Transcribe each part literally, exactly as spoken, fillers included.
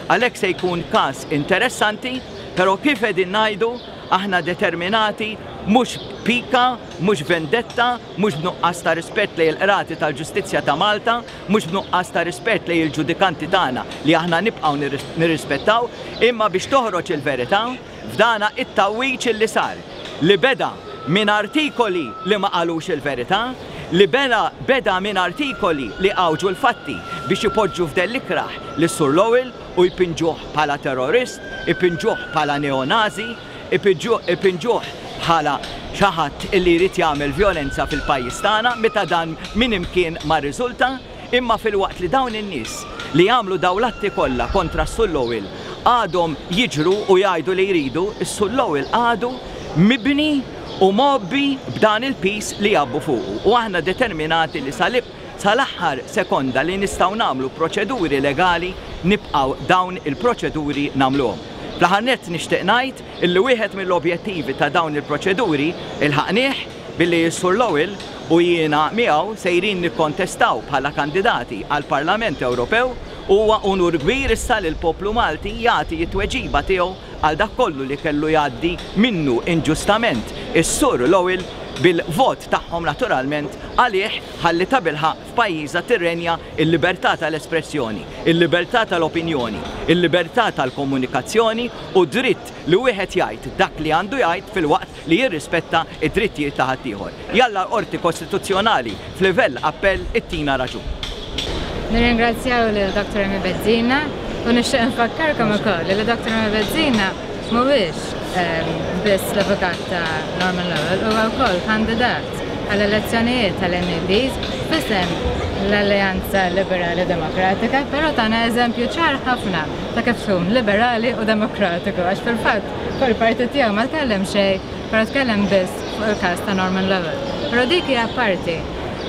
Għalhekk se jkun każ interessanti, però kif qegħdin ngħidu, aħna determinati, mhux pika, mhux vendetta, mhux b'nuqqas ta' rispett lejn il-qrati tal-ġustizzja ta' Malta, mhux b'nuqqas ta' rispett lejn il-ġudikanti tagħna li aħna nibqgħu nirrispettaw, imma biex toħroġ il-verità f'dana it-tgħawwiġ li sar, li beda minn artikoli li ma qalux il-verità, li beda beda minn artikoli li għawġu l-fatti biex ipoġġu f'dell ikrah lis-Sur Lowell u jpinġuh bħala terrorist, ipinġuh bħala neonazi, ipinġuh bħala xi ħadd illi jrid jagħmel violenza fil-pajjiż tagħna, meta dan minn imkien ma rriżulta. Imma filwaqt li dawn in-nies li jagħmlu dawn l-atti kollha kontra s-Sur Lowell għadhom jiġru u jgħidu li jridu, is-Sur Lowell għadu mibni u mgħobbi b'dan il-piż li jgħabbu fuqu. U aħna determinati li salib sal-aħħar sekonda li nistgħu nagħmlu proċeduri legali, nibqgħu dawn il-proċeduri nagħmluhom. Fl-aħħar nett nixtieq ngħid illi wieħed mill-objettivi ta' dawn il-proċeduri ilħaqnieh billi s-Sur Lowell u jiena miegħu sejrin nikkontestaw bħala kandidati għall-Parlament Ewropew. Huwa unur kbir issa li l-poplu Malti jagħti t-tweġiba tiegħu għal dak kollu li kellu jgħaddi minnu inġustament is-Sur Lowell, bil-vot tagħhom naturalment għalih, ħalli tabilħaqq f'pajjiżna tirrenja il-libertà tal-espressjoni, il-libertà tal-opinjoni, il-libertà tal-komunikazzjoni u dritt li wieħed jgħid dak li għandu jgħid filwaqt li jirrispetta id-drittijiet ta' ħaddieħor. Jalla l-Qorti Kostituzzjonali f'livell appell ittina raġun. Nirringrazzjaw lil Doktor Amy Bezzina u nixtieq nfakkarkom ukoll li Doktor Amy Bezzina mhuwiex biss l-avukat ta' Norman Lowell, huwa wkoll kandidat għall-elezzjonijiet tal-M E Ps f'isem l-Alleanza Liberali Demokratika, però tana eżempju ċar ħafna ta' kif tkun liberali u demokratiku, għax fil-fatt fuq il-partit tiegħu ma tkellem xejn, però tkellem biss fuq il-każ ta' Norman Lowell. Però dik hija parti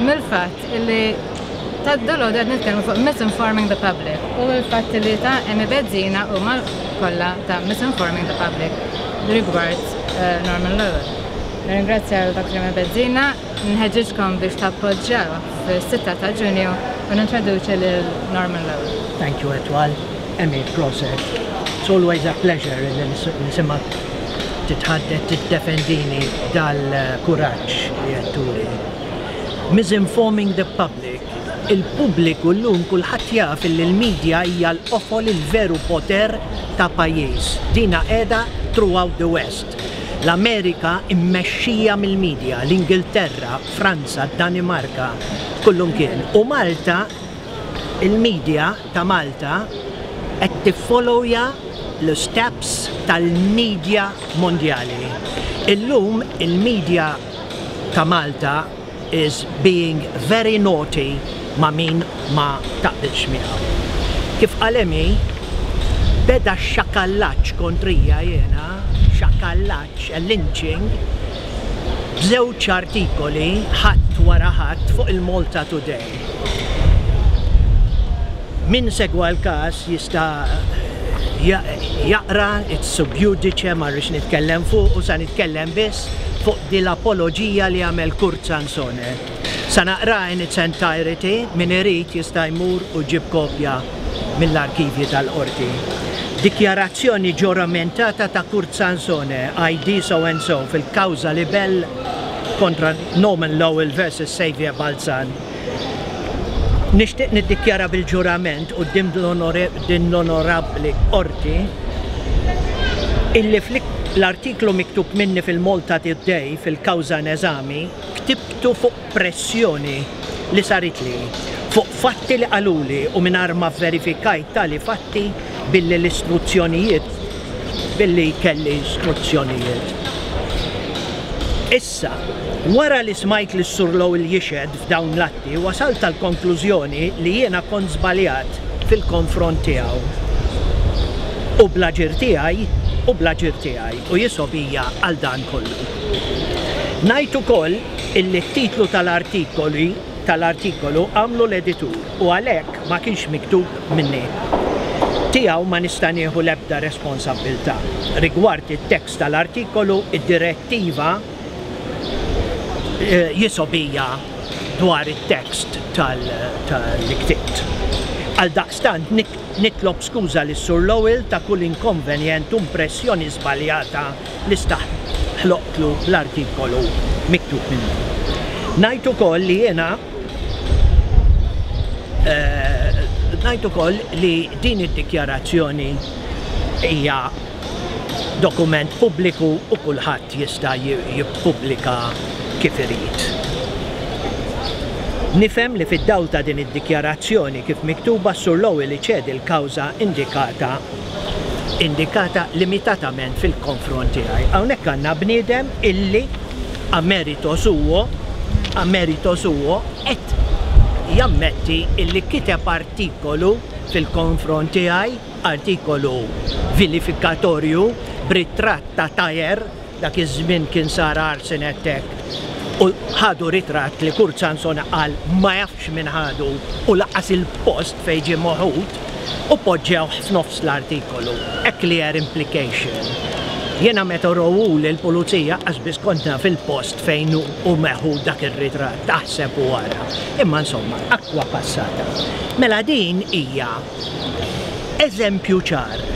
mill-fatt illi ta' dalgħodu qed nitkellmu fuq misinforming the public u l-fatt li ta' Amy Bezzina huma kollha ta' misinforming the public rigward uh, Norman Lowell. Nirringrazzja l-Doktor Amy Bezzina, nħeġġiġkom biex tappoġġjaw fis-sitta ta' Ġunju u nintroduċi lil Norman Lowell. Thank you, Etwal. Emmy, prosit. It's always a pleasure li nismgħek titħaddet, tiddefendini dal-kuraġġ li qed turi. Misinforming the public. Il-pubbliku llum kulħadd jaf li l-media hija l-qofol, il-veru poter ta' pajjiż. Dina qiegħda throughout the West. L-Amerika immexxija mill-media, l-Ingilterra, Franza, Danimarka, kullumkien. U Malta, il-media ta' Malta qed tiffollowja l-steps tal-media mondjali. Illum il-media ta' Malta is being very naughty ma' min ma taqbilx miegħu. Kif qal Amy, beda xakallaċ kontrija jena, xakallaċ, lynching, b'żewġ artikoli ħadd wara ħadd fuq il-Malta Today. Min segwa l-kas jista' jaqra, it's sub judice, ma rridx nitkellem fuq u sa nitkellem biss fuq di l-apologija li għamel Kurt Sansone. Sa naqra in its entirety, min irid jista' jmur u jġib kopja mill-arkivji tal-qorti. Dikjarazzjoni ġuramentata ta' Kurt Sansone, I D so and so, fil-kawża libell kontra Norman Lowell versus Xavier Balzan. Nixtieq niddikjara bil-ġurament u din l-onorabbli qorti illi l-artiklu miktub minni fil-Malta Today fil-kawża in eżami ktibtu fuq pressjoni li saritli fuq fatti li qaluli u mingħajr ma verifikajt tali fatti billi l-istruzzjonijiet billi kelli istruzzjonijiet. Issa, wara li smajt li s-Sur Lowell jixhed f'dawn l-atti, wasalt tal-konklużjoni li jiena kont żbaljat fil-konfront tiegħu. U bl-aġir tiegħi, u bl-aġir tiegħi, u jisgħobija għal dan kollu. Ngħid ukoll illi t-titlu tal-artikoli tal-artikolu għamlu l-editur u għalhekk ma kienx miktub minni. Tiegħu ma nista' nieħu l-ebda responsabbiltà. Rigward it-tekst tal-artikolu, id-direttiva eh, jisgħobija dwar it-tekst tal-li ktibt. Għal daqstant nitlob skuża lis Sur Lowell ta' kull inkonvenjent u impressjoni żbaljata li ħloqtlu l-artikolu miktub minnu. Ngħid ukoll li jiena eh, ngħid ukoll li din id-dikjarazzjoni hija dokument pubbliku u kulħadd jista' jippubblika kif irid. Nifhem li fid-dawl ta' din id-dikjarazzjoni kif miktuba, Sur Lowell iċedi l-kawża indikata indikata limitatament fil-konfront tiegħi. Hawnhekk għandna bniedem illi a merito suo, a merito suo qed jammetti illi kiteb artikolu fil-konfront tiegħi, artikolu vilifikatorju b'ritratt ta' tajer, dak iż-żmien kien sar arson attack u ħadu ritratt li Kurt Sansone qal ma jafx minn ħadu u lanqas il-post fejn ġie meħud, u poġġew f'nofs l-artikolu. A clear implication. Jena meta rowu li l-pulizija qas kont naf il-post fejn hu meħud dak ir-ritratt, taħseb u wara. Imma insomma, acqua passata. Mela din hija eżempju ċar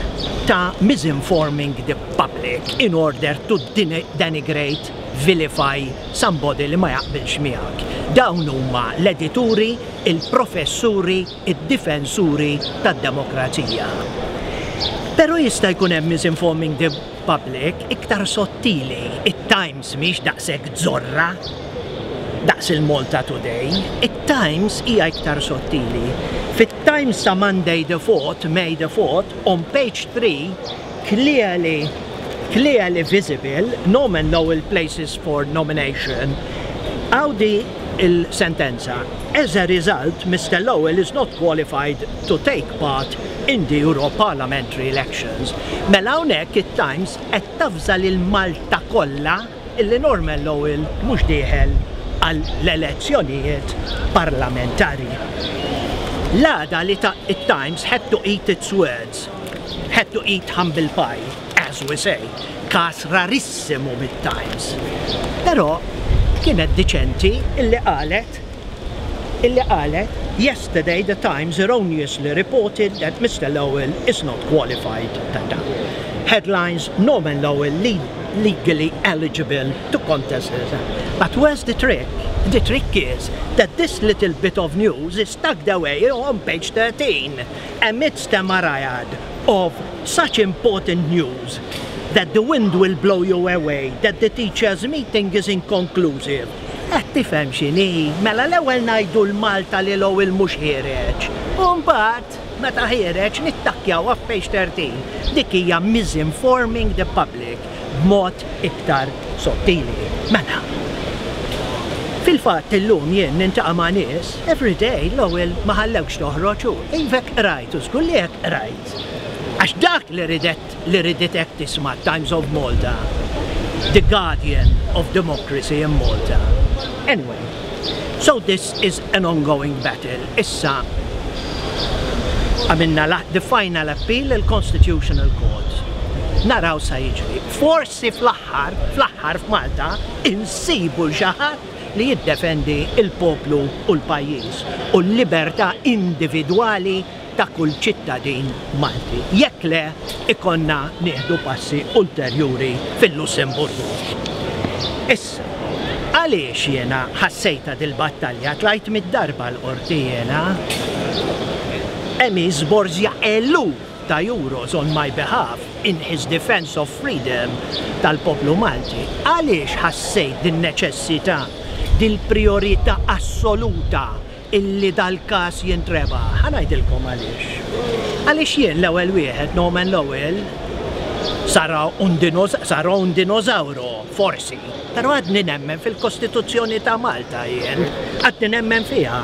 ta' misinforming the public in order to denigrate, vilify somebody li ma jaqbilx miegħek. Dawn huma l-edituri, il-professuri, id-difensuri tad-demokrazija. Però jista' jkun hemm misinforming the public iktar sottili. It-Times mhix daqshekk zorra daqs il-Malta Today. It-Times hija iktar sottili. Fit-Times ta' Monday the fourth, May the fourth, on page three, clearly clearly visible, "Norman Lowell places for nomination." Hawn di il-sentenza: "As a result, Mister Lowell is not qualified to take part in the Euro Parliamentary elections." Mela hawnhekk it-Times qed tavża lil Malta kollha illi Norman Lowell mhux dieħel għall-elezzjonijiet parlamentari. L-għada li ta' it-Times had to eat its words, had to eat humble pie, as we say, kas rarissimu mit-Times. Però kienet diċenti illi qalet illi qalet "Yesterday the Times erroneously reported that Mister Lowell is not qualified." Tata. Headlines: "Norman Lowell legally eligible to contest." But where's the trick? The trick is that this little bit of news is tucked away on page thirteen amidst a myriad of such important news that the wind will blow you away, that the teachers' meeting is inconclusive. Qed tifhem x'inhi? Mela l-ewwel ngħidu lil Malta li Lowell mhux ħiereġ. U mbagħad meta ħiereġ nittakjaw page thirteen. Dik hija misinforming the public b'mod iktar sottili. Mela, fil-fatt illum jien niltaqa' ma' nies, every day, "Lowell ma ħallewx toħroġ u ivek rajt, u żgur li hekk rajt." Għax dak li ridet li riditek tisma' Times of Malta, the guardian of democracy in Malta. Anyway, so this is an ongoing battle. Issa għamilna the final appeal, il-Constitutional Court. Naraw sa jiġri. Forsi fl-aħħar, fl-aħħar f'Malta, insibu xi ħadd li jiddefendi il-poplu u l-pajjiż u l-libertà individwali ta' kull ċittadin Malti. Jekk le, ikollna nieħdu passi ulterjuri fil-Lussemburgu. Issa, għaliex jena ħassejta dil-battalja, tlajt mid-darba l-qorti jena, Emi żborżja eluf ta' euros on my behalf in his defense of freedom tal-poplu Malti. Għaliex ħassejt din neċessità, dil-priorità assoluta illi dal-kas jintrebaħ? Ħa ngħidilkom għaliex. Għaliex jien l-ewwel wieħed, Norman Lowell, sara un, sara un dinosauro, forsi, però għadni nemmen fil-Kostituzzjoni ta' Malta jien, għadni nemmen fiha.